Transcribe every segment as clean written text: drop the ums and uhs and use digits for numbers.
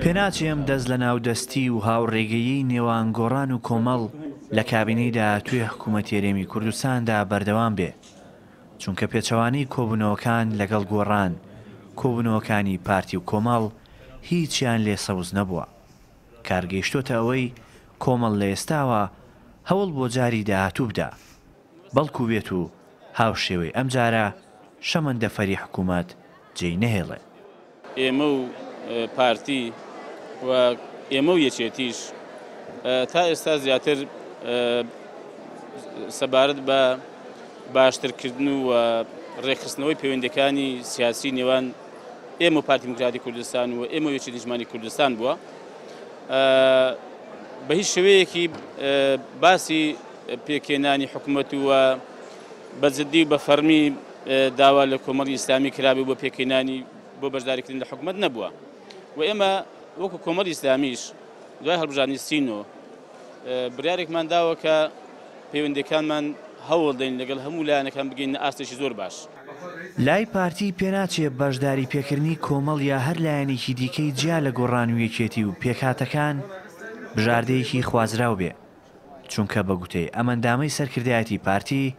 پێناچێ ئەم دەست لەناو دەستی و هاوڕێگەییەی نێوان گۆڕان و کۆمەڵ لە کابینەی داهاتووی حکوومەتی هەرێمی کوردستاندا بەردەوام بێ، چونکە پێچەوانەی کۆبوونەوەکان لەگەڵ گۆڕان، کۆبوونەوەکانی پارتی و کۆمەڵ هیچیان لێ سەوز نەبووە. کار گەیشتۆتە ئەوەی کۆمەڵ لە ئێستاوە هەوڵ بۆ جاری داهاتوو بدا، بەڵکو بێت و هاوشێوەی ئەمجارە شەمەندەفەری حکوومەت جێی نەهێڵێ. ئێمە و پارتی و ئێمە و یەکێتیش تا ئێستا زیاتر سەبارەت بە باشترکردن و ڕێکخستنەوەی پەیوەندەکانی سیاسی نێوان ئێمە و پارتی دیموکراتی کوردستان و ئێمە و یەکێتی نیشتمانی کوردستان بووە بە هیچ شێوەیەکی باسی پێکهێنانی حکومەت و بە جدی و بە فەرمی داوا لە کۆمەڵی ئیسلامی کرابێ بۆ پێکهێنانی بۆ بەشداریکردن لە حکومەت نەبووە و ئێمە وەکو کۆمەڵی ئیسلامیش دوای هەڵبژاردنی سینۆ بڕیارێکمان داوە کە پەیوەندیەکانمان هەوڵ دەین لەگەڵ هەموو لایەنەکان بگەینە ئاستێکی زۆر باش. لای پارتی پێناچێ بەشداری پێکردنی کۆمەڵ یا هەر لایەنێکی دیکەی جیا لە گۆڕان و یەکێتی و پێکهاتەکان بژاردەیەکی خوازراو بێ، چونکە بە گوتەی ئەم ئەندامەی سەرکردایەتی پارتی،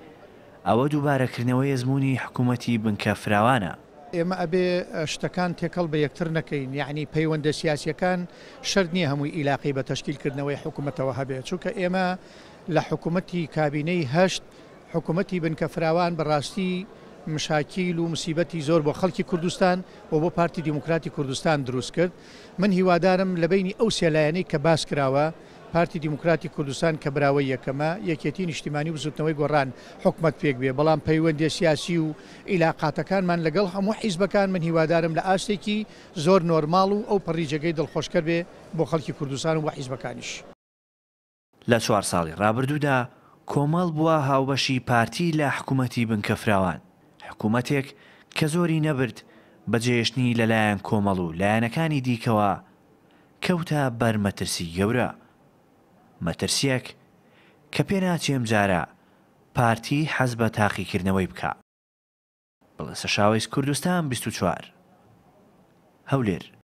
ئەوە دووبارەکردنەوەی ئەزموونی حکوومەتی بنکە فراوانە. ئێمە ئەبێ شتەکان تێکەڵ بە یەکتر نەکەین، یەعنی پەیوەندە سیاسییەکان شەرت نییە هەمووی ئیلاقەی بە تەشکیل کردنەوەی حکوومەتەوە هەبێ، چونکە ئێمە لە حکوومەتی کابینەی هەشت، حکوومەتی بنکە فراوان بە ڕاستی مشاکیل و مسیبەتی زۆر بۆ خەڵکی کوردستان و بۆ پارتی دیموکراتی کوردستان دروست کرد. من هیوادارم لە بەینی ئەو سێ لایەنەی کە باس کراوە، پارتی دیموکراتی کوردستان کە براوەی یەکەمە، یەکێتی نیشتیمانی و بزوتنەوەی گۆڕان حکومەت پێک بێ، بەڵام پەیوەندیە سیاسی و ئیلاقاتەکانمان لەگەڵ هەموو حیزبەکان من هیوادارم لە ئاستێکی زۆر نۆرماڵ و ئەو پەڕی جێگەی دڵخۆشکەر بێ بۆ خەڵکی کوردستان و بۆ حیزبەکانیش. لە چوار ساڵی ڕابردوودا کۆمەڵ بووە هاوبەشی پارتی لە حکومەتی بنکە فراوان، حکومەتێک کە زۆری نەبرد بە جێهێشتنی لەلایەن کۆمەڵ و لایەنەکانی دیکەوە کەوتە بەر مەترسی گەورە. مەترسیەک کە پێناچێ ئەمجارە پارتی حەز بە تاقیکردنەوەی بکا. بڵێسە شاوەیس کوردستان 24. هەولێر.